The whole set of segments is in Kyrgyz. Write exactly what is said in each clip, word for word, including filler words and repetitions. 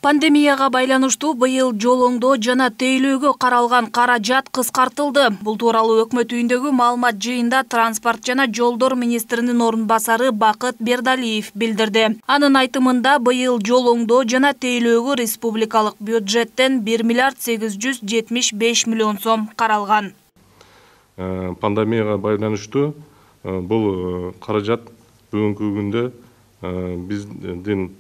Пандемияга байланыштуу быйыл жол оңдоо жана тейлөөгө каралган каражат кыскартылды. Бул тууралуу өкмөт үйүндөгү маалымат жыйында транспорт жана жолдор министринин орун басары Бакыт Бердалиев билдирди. Анын айтымында быйыл жол оңдоо жана тейлөөгө республикалык бюджеттен бир миллиард сегиз жүз жетимиш беш миллион сом каралган. Пандемияга байланыштуу бул каражат бүгүнкү күндө биздин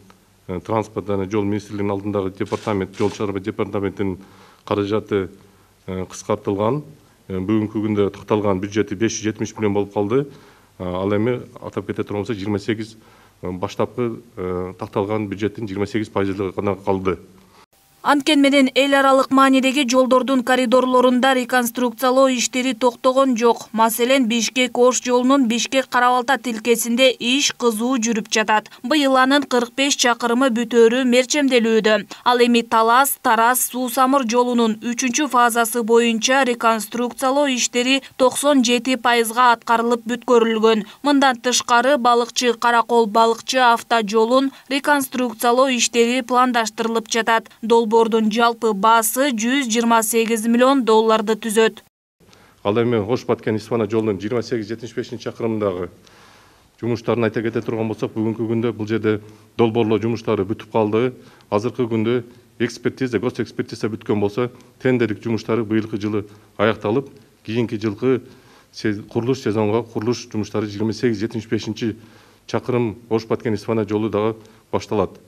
транспорт жана жол министрлигинин алдындагы департамент, жол чарба департаментинин каражаты кыскартылган. Бүгүнкү күндө такталган бюджети беш жүз жетимиш миллион болуп калды. Ал эми атап кете турган болсо жыйырма сегиз баштапкы такталган бюджеттин жыйырма сегиз пайызы гана калды. Анткени менен эл аралык маанидеги жолдордун коридорлорунда реконструкциялоо иштери токтогон жок. Маселен, Бишкек-Ош жолунун Бишкек-Карабалта тилкесинде иш кызуу жүрүп жатат. Быйыл анын кырк беш чакырымы бүтөөрү мерчемделүүдө. Ал эми Талас-Тарас-Суу-Самыр жолунун үчүнчү фазасы боюнча реконструкциялоо иштери токсон жети пайызга аткарылып бүткөрүлгөн. Мындан тышкары Балыкчы-Каракол Балыкчы автожолун реконструкциялоо иштери пландаштырылып жатат. Бордун жалпы баасы жүз жыйырма сегиз миллион долларды түзөт. Ал эми Ош-Баткен-Исфана жолунун жыйырма сегиз жетимиш бешинчи чакырымындагы жумуштарын айта кете турган болсок, бүгүнкү күндө бул жерде долбоорлоо жумуштары бүтүп калды. Азыркы күндө экспертиза, гос экспертиза бүткөн болсо, тендерлик жумуштары быйылкы жылы аякталып, кийинки жылкы курулуш сезонго курулуш жумуштары жыйырма сегиз жетимиш бешинчи чакырым Ош-Баткен-Исфана жолу дагы башталат.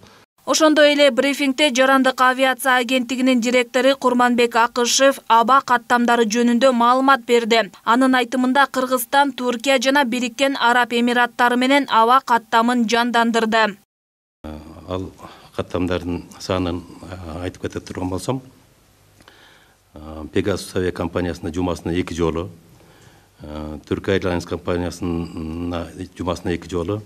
Ошондой эле брифингде Жарандык авиация агенттигинин директору Курманбек Акышев аба каттамдары жөнүндө маалымат берди. Анын айтымында Кыргызстан, Туркия жана Бириккен Араб Эмираттары менен аба каттамын жандандырды. Ал каттамдардын санын айтып кете турган болсом, Pegasus авиа компаниясына жумасына эки жолу, Turkish Airlines компаниясына жумасына эки жолу,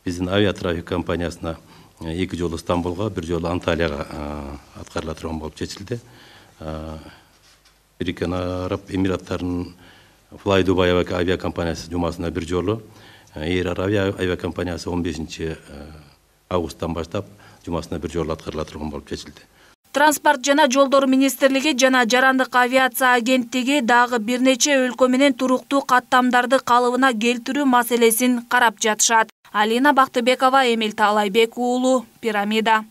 биздин авиатрафик компаниясына эки жолу Стамбулга, бир жолу Анталияга аткарыла турган болуп чечилди. Бириккен Араб Эмираттарынын Fly Dubai авиа компаниясы жумасына бир жолу, Air Arabia авиа компаниясы он бешинчи августтан баштап жумасына бир жолу аткарыла турган болуп чечилди. Транспорт жана жолдор министрлиги жана Жарандык авиация агенттиги дагы бир нече өлкө менен туруктуу каттамдарды калыбына келтирүү маселесин карап жатышат. Алина Бактыбекова, Эмил Таалайбек уулу, Пирамида.